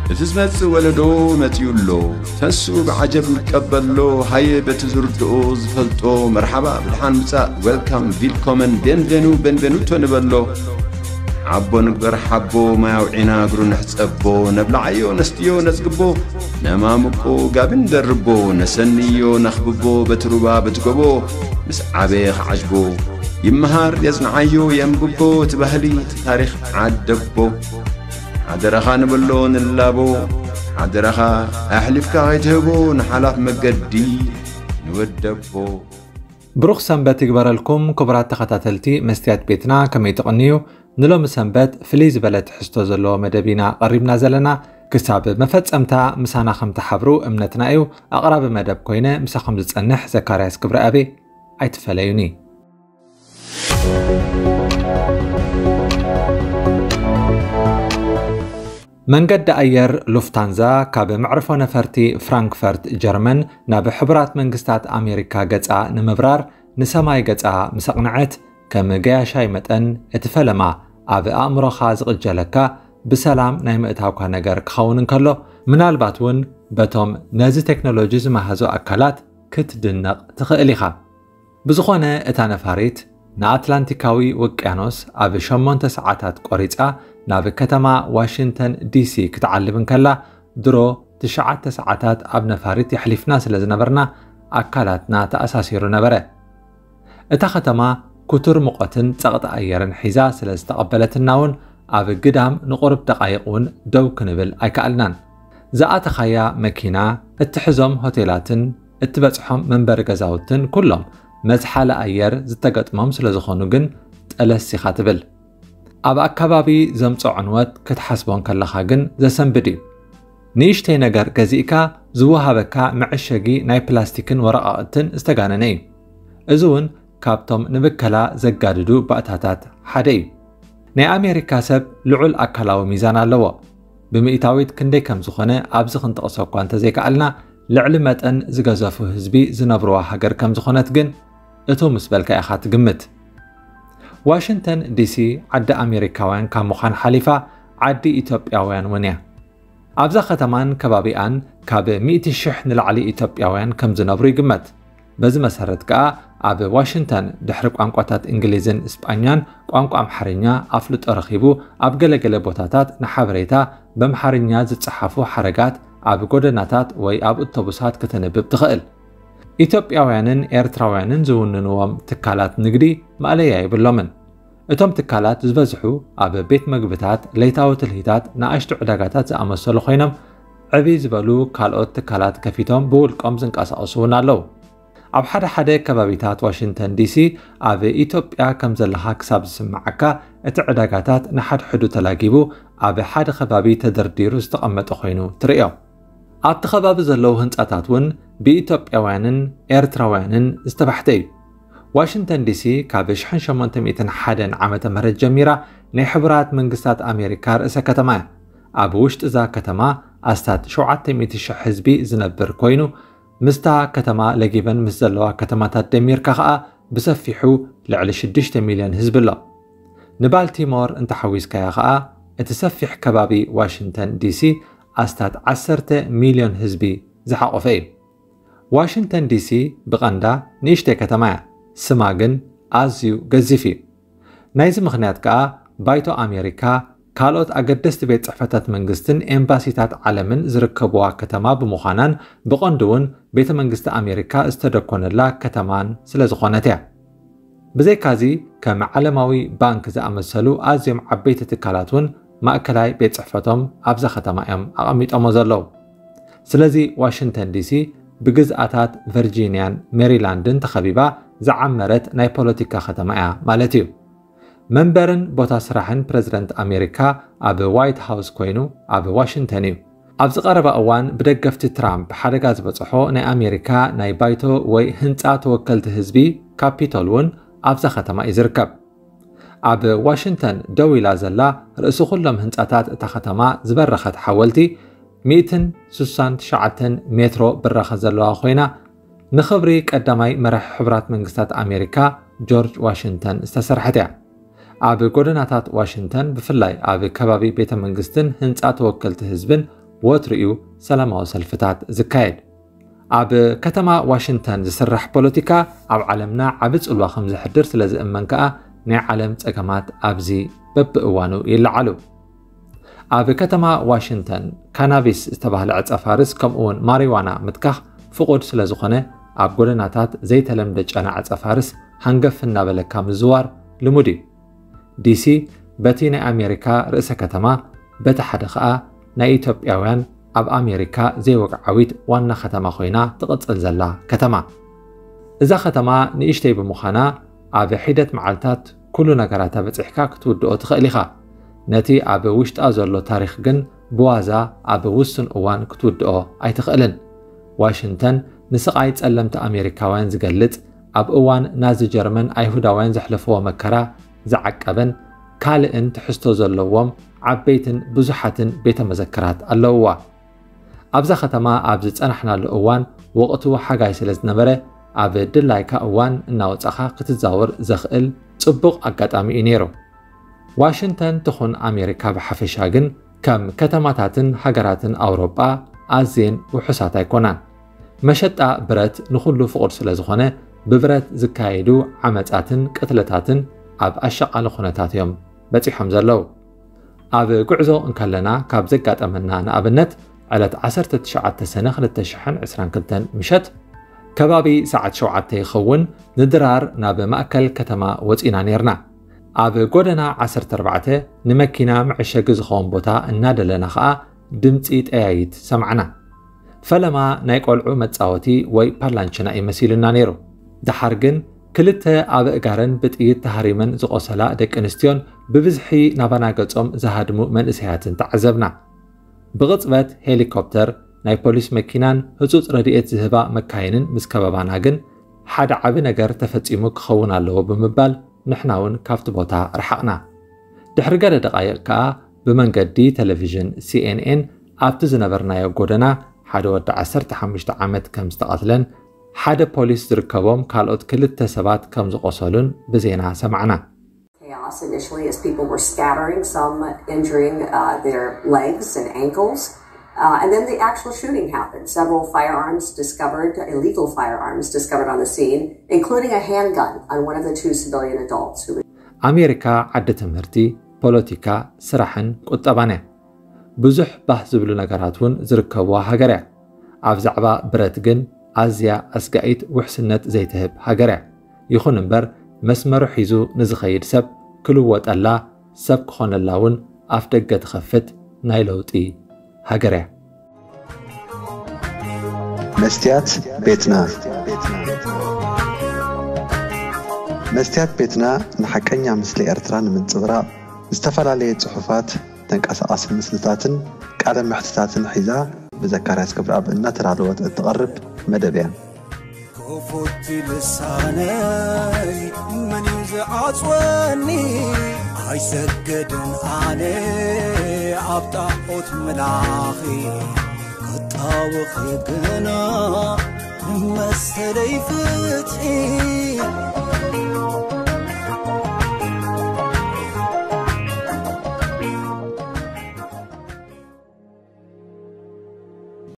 እቲ ዝመጽእ ወለዶ መጺኡ ኣሎ። ተስኡ ብዓጀብ ይቀበሎ። ሃየ በቲ ዝርድኦ ዝፈልጦ መርሓባ ብድሓን ምጻእ፣ ዌልካም፣ ቪልኮመን፣ ቤንቬኑ፣ ቤንቬኑቶ ንበሎ። ዓቦ ንግበር ሓቦ፣ ማይ ኣውዒና እግሩ ንሕጸቦ። ነብልዓዮ ነስትዮ ነጽግቦ፣ ነማምቆ ጋቢ ንደርቦ። ነሰንዮ ነኽብቦ በቲ ሩባ በቲ ጎቦ፣ ምስ ዓበየ ክዓጅቦ። ይመሃር የጽንዓዮ የንብቦ እቲ ባህሊ እቲ ታሪኽ ዓደቦ። ሓደራኻ ንበሎ ንላቦ፣ ሓደራኻ ኣሕሊፍካ ከይትህቦ ንሓላፍ መገዲ ንወደቦ። ብሩኽ ሰንበት ይግበረልኩም ክቡራት ተኸታተልቲ መስትያት ቤትና፣ ከመይ ትቕንዩ? ንሎሚ ሰንበት ፍልይ ዝበለ ትሕዝቶ ዘለዎ መደብ ኢና ቀሪብና ዘለና። ክሳብ መፈጸምታ ምሳና ከም ትሓብሩ እምነትና እዩ። ኣቕራቢ መደብ ኮይነ ምሳኹም ዝጸንሕ ዘካርያስ ክብረኣብ። ኣይትፈለዩኒ። መንገዲ ኣየር ሉፍታንዛ ካብ መዕርፎ ነፈርቲ ፍራንክፈርት ጀርመን ናብ ሕቡራት መንግስታት ኣሜሪካ ገጻ ንምብራር ንሰማይ ገጻ ምስ ኣቕንዐት፣ ከም ገያሻይ መጠን እቲ ፈለማ ኣብ ኣእምሮኻ ዝቕጀለካ ብሰላም ናይ ምእታውካ ነገር ክኸውን እንከሎ፣ ምናልባት እውን በቶም ነዚ ቴክኖሎጂ ዝመሃዙ ኣካላት ክትድነቕ ትኽእል ኢኻ። ብዝኾነ፣ እታ ነፋሪት ንኣትላንቲካዊ ውቅያኖስ ኣብ ሸሞንተ ሰዓታት ቆሪጻ ናብ ከተማ ዋሽንግተን ዲሲ ክትዓልብ እንከላ፣ ድሮ ትሽዓተ ሰዓታት ኣብ ነፋሪት የሕሊፍና ስለ ዝነበርና፣ ኣካላትና ተኣሳሲሩ ነበረ። እታ ከተማ ክቱር ሙቐትን ጸቕጢ ኣየርን ሒዛ ስለ ዝተቐበለትና እውን፣ ኣብ ግዳም ንቑሩብ ደቓይቕ እውን ደው ክንብል ኣይከኣልናን። ዝኣተኻያ መኪና፣ እትሕዞም ሆቴላትን እትበጽሖም መንበሪ ገዛውትን ኩሎም መዝሓሊ ኣየር ዝተገጥሞም ስለ ዝኾኑ ግን ጠለስ ኢኻ ትብል። ኣብ ኣካባቢ ዘምጽኦ ዕንወት ክትሓስቦ እንከለኻ ግን ዘሰንብድ እዩ። ንእሽተይ ነገር ገዚእካ ዝወሃበካ መዐሸጊ ናይ ፕላስቲክን ወረቓቕትን ዝተጋነነ እዩ። እዚ እውን ካብቶም ንብከላ ዘጋድዱ ባእታታት ሓደ እዩ። ናይ ኣሜሪካ ሰብ ልዑል ኣካላዊ ሚዛን ኣለዎ። ብምእታዊት ክንደይ ከም ዝኾነ ኣብዚ ክንጠቕሶ እኳ እንተዘይከኣልና፣ ልዕሊ መጠን ዝገዘፉ ህዝቢ ዝነብርዋ ሃገር ከም ዝኾነት ግን እቱ ምስ በልካ ኢኻ ትግምት። ዋሽንግተን ዲሲ ዓዲ ኣሜሪካውያን ካብ ምዃን ሓሊፋ ዓዲ ኢትዮጵያውያን እውን እያ። ኣብዛ ከተማን ከባቢኣን ካብ ሚእቲ ሽሕ ንላዕሊ ኢትዮጵያውያን ከም ዝነብሩ ይግመት። በዚ መሰረት ከኣ ኣብ ዋሽንግተን ድሕሪ ቋንቋታት እንግሊዝን እስጳኛን ቋንቋ ኣምሓርኛ ኣፍልጦ ረኺቡ ኣብ ገለገለ ቦታታት ንሓበሬታ በምሓርኛ ዝጸሓፉ ሓረጋት ኣብ ጎደናታት ወይ ኣብ ኣውቶቡሳት ከተንብብ ትኽእል። ኢትዮጵያውያንን ኤርትራውያንን ዝውንንዎም ትካላት ንግዲ ማእለያ የብሎምን። እቶም ትካላት ዝበዝሑ ኣብ ቤት መግብታት፣ ለይታዊ ትልሂታት፣ ንኣሽቱ ዕዳጋታት ዝኣመሰሉ ኮይኖም ዕብይ ዝበሉ ካልኦት ትካላት ከፊቶም ብውልቆም ዝንቀሳቐሱ እውን ኣለዉ። ኣብ ሓደ ሓደ ከባቢታት ዋሽንግተን ዲሲ ኣብ ኢትዮጵያ ከም ዘለኻ ክሳብ ዝስምዓካ እቲ ዕዳጋታት ንሓድሕዱ ተላጊቡ ኣብ ሓደ ከባቢ ተደርዲሩ ዝተቐመጠ ኮይኑ ትርእዮ። ኣብቲ ከባቢ ዘለዉ ህንጻታት እውን ብኢትዮጵያውያንን ኤርትራውያንን ዝተባሕተ እዩ። ዋሽንግተን ዲሲ ካብ ሽሕን ሸሞንተ ሚእትን ሓደን ዓመተ ምህረት ጀሚራ ናይ ሕቡራት መንግስታት ኣሜሪካ ርእሰ ከተማ እያ። ኣብ ውሽጢ እዛ ከተማ ኣስታት ሸውዓተ ሚእቲ ሽሕ ህዝቢ ዝነብር ኮይኑ፣ ምስታ ከተማ ለጊበን ምስ ዘለዋ ከተማታት ደሚርካ ኸኣ ብሰፊሑ ልዕሊ ሽዱሽተ ሚልዮን ህዝቢ ኣሎ። ንባልቲሞር እንተሓዊስካያ ኸኣ እቲ ሰፊሕ ከባቢ ዋሽንግተን ዲሲ ኣስታት ዓሰርተ ሚልዮን ህዝቢ ዝሓቖፈ እዩ። ዋሽንግተን ዲሲ ብቐንዳ ንእሽተይ ከተማ እያ፣ ስማ ግን ኣዝዩ ገዚፍ እዩ። ናይዚ ምኽንያት ከኣ ባይቶ ኣሜሪካ፣ ካልኦት ኣገደስቲ ቤት ጽሕፈታት መንግስትን ኤምባሲታት ዓለምን ዝርከብዋ ከተማ ብምዃናን ብቐንዱ እውን ቤተ መንግስቲ ኣሜሪካ ዝተደኮነላ ከተማን ስለ ዝኾነት እያ። ብዘይካዚ ከም ዓለማዊ ባንክ ዝኣመሰሉ ኣዝዮም ዓበይቲ ትካላት እውን ማእከላይ ቤት ጽሕፈቶም ኣብዛ ከተማ እዮም ኣቐሚጦሞ ዘለዉ። ስለዚ ዋሽንግተን ዲሲ ብግዝኣታት ቨርጂንያን ሜሪላንድን ተኸቢባ ዝዓመረት ናይ ፖለቲካ ከተማ እያ ማለት እዩ። መንበርን ቦታ ስራሕን ፕረዚደንት ኣሜሪካ ኣብ ዋይት ሃውስ ኮይኑ ኣብ ዋሽንግተን እዩ። ኣብዚ ቀረባ እዋን ብደገፍቲ ትራምፕ ሓደጋ ዝበፅሖ ናይ ኣሜሪካ ናይ ባይቶ ወይ ህንፃ ተወከልቲ ህዝቢ ካፒቶል እውን ኣብዛ ከተማ እዩ ዝርከብ። ኣብ ዋሽንግተን ደው ኢላ ዘላ ርእሲ ኩሎም ህንፃታት እታ ከተማ ዝበረኸት ሓወልቲ ሚእትን ስሳን ትሽዓተን ሜትሮ ብራኸ ዘለዋ ኮይና፣ ንኽብሪ ቀዳማይ መራሒ ሕቡራት መንግስታት ኣሜሪካ ጆርጅ ዋሽንግተን ዝተሰርሐት እያ። ኣብ ጎደናታት ዋሽንግተን፣ ብፍላይ ኣብ ከባቢ ቤተ መንግስትን ህንፃ ተወከልቲ ህዝብን ወትሩ እዩ ሰላማዊ ሰልፍታት ዝካየድ። ኣብ ከተማ ዋሽንግተን ዝስራሕ ፖለቲካ ኣብ ዓለምና ዓቢ ጽልዋ ከም ዘሕድር ስለ ዝእመን ከኣ ናይ ዓለም ጸገማት ኣብዚ በብእዋኑ ይለዓሉ። ኣብ ከተማ ዋሽንግተን ካናቢስ ዝተባህለ ዕጸ ፋርስ ከምኡ እውን ማሪዋና ምትካኽ ፍቑድ ስለ ዝኾነ ኣብ ጎደናታት ዘይተለምደ ጨና ዕጸ ፋርስ ሃንገፍ እናበለካ ምዝዋር ልሙድ እዩ። ዲሲ በቲ ናይ ኣሜሪካ ርእሰ ከተማ በቲ ሓደ ኸኣ ናይ ኢትዮጵያውያን ኣብ ኣሜሪካ ዘይወግዓዊት ዋና ከተማ ኮይና ትቕጽል ዘላ ከተማ። እዛ ከተማ ንእሽተይ ብምዃና ኣብ ሒደት መዓልታት ኩሉ ነገራታ በጺሕካ ክትውድኦ ትኽእል ኢኻ። ነቲ ኣብ ውሽጣ ዘሎ ታሪኽ ግን ብዋዛ ኣብ ውሱን እዋን ክትውድኦ ኣይትኽእልን። ዋሽንግተን ንስቓይ ጸለምቲ ኣሜሪካውያን ዝገልጽ፣ ኣብ እዋን ናዚ ጀርመን ኣይሁዳውያን ዘሕለፍዎ መከራ ዝዓቀበን ካልእን ትሕዝቶ ዘለዎም ዓበይትን ብዙሓትን ቤተ መዘክራት ኣለውዋ። ኣብዛ ከተማ ኣብ ዝጸናሕናሉ እዋን ወቕቱ ሓጋይ ስለ ዝነበረ ኣብ ድላይካ እዋን እናወጻኻ ክትዛወር ዘኽእል ጽቡቕ ኣጋጣሚ እዩ ነይሩ። ዋሽንግተን ትኹን ኣሜሪካ ብሓፈሻ ግን ከም ከተማታትን ሃገራትን ኣውሮጳ ኣዝየን ውሑሳት ኣይኮናን። መሸጣ ብረት ንኹሉ ፍቑድ ስለ ዝኾነ ብብረት ዝካየዱ ዓመጻትን ቅትለታትን ኣብ ኣሻቓሊ ኩነታት እዮም በጺሖም ዘለዉ። ኣብ ጉዕዞ እንከለና ካብ ዘጋጠመና ንኣብነት ዕለት ዓሰርተ ትሽዓተ ሰነ ክልተ ሽሕን ዕስራን ክልተን ምሸት ከባቢ ሰዓት ሸውዓተ ይኸውን ንድራር ናብ ማእከል ከተማ ወጺና ነይርና። ኣብ ጎደና ዓሰርተ ኣርባዕተ ንመኪና መዐሸጊ ዝኸውን ቦታ እናደለና ኸኣ ድምጺ ጠያይት ሰማዕና። ፈለማ ናይ ቆልዑ መጻወቲ ወይ ፓላንችና እዩ መሲሉና ነይሩ። ደሓር ግን ክልተ ኣበእጋረን ብጥይት ተሃሪመን ዝቖሰላ ደቂ ኣንስትዮን ብብዝሒ ናባና ገጾም ዝሃድሙ መንእሰያትን ተዓዘብና። ብቕጽበት ሄሊኮፕተር፣ ናይ ፖሊስ መኪናን ህጹጽ ረድኤት ዝህባ መካይንን ምስ ከበባና ግን ሓደ ዓቢ ነገር ተፈጺሙ ክኸውን ኣለዎ ብምባል ንሕና እውን ካብቲ ቦታ ረሓቕና። ድሕሪ ገለ ደቓይቕ ከኣ ብመንገዲ ቴሌቪዥን ሲኤንኤን ኣብቲ ዝነበርናዮ ጎደና ሓደ ወዲ ዓሰርተ ሓሙሽተ ዓመት ከም ዝተቐትለን ሓደ ፖሊስ ዝርከቦም ካልኦት ክልተ ሰባት ከም ዝቖሰሉን ብዜና ሰማዕና። Chaos initially as people were scattering, some injuring uh, their legs and ankles. Uh, and then the actual shooting happened. Several firearms discovered, illegal firearms discovered on the scene, including a handgun on one of the two civilian adults who was ኣሜሪካ ዓዲ ትምህርቲ፣ ፖለቲካ፣ ስራሕን ቁጠባን እያ። ብዙሕ ባህ ዝብሉ ነገራት እውን ዝርከብዋ ሃገር እያ። ኣብ ዛዕባ ብረት ግን ኣዝያ ኣስጋኢት ውሕስነት ዘይትህብ ሃገር እያ። ይኹን እምበር መስመሩ ሒዙ ንዝኸይድ ሰብ ክልወጠላ፣ ሰብ ክኾነላ እውን ኣፍ ደገ ትኸፍት ናይ ለውጢ ሃገር እያ። መስትያት ቤትና። መስትያት ቤትና ንሓቀኛ ምስሊ ኤርትራ ንምንጽብራቕ ዝተፈላለየ ጽሑፋት፣ ተንቀሳቓሲ ምስልታትን ቃለ መሕትታትን ሒዛ ብዘካርያስ ክብረኣብ እናተዳለወት እትቐርብ መደብ እያ። ክፉት ልሳነይ መን እዩ ዝዓጽወኒ? ኣይሰገድን ኣነ ኣብ ጣዖት ምላኺ ክጣወኺ ግና መሰለይ ፍትሒ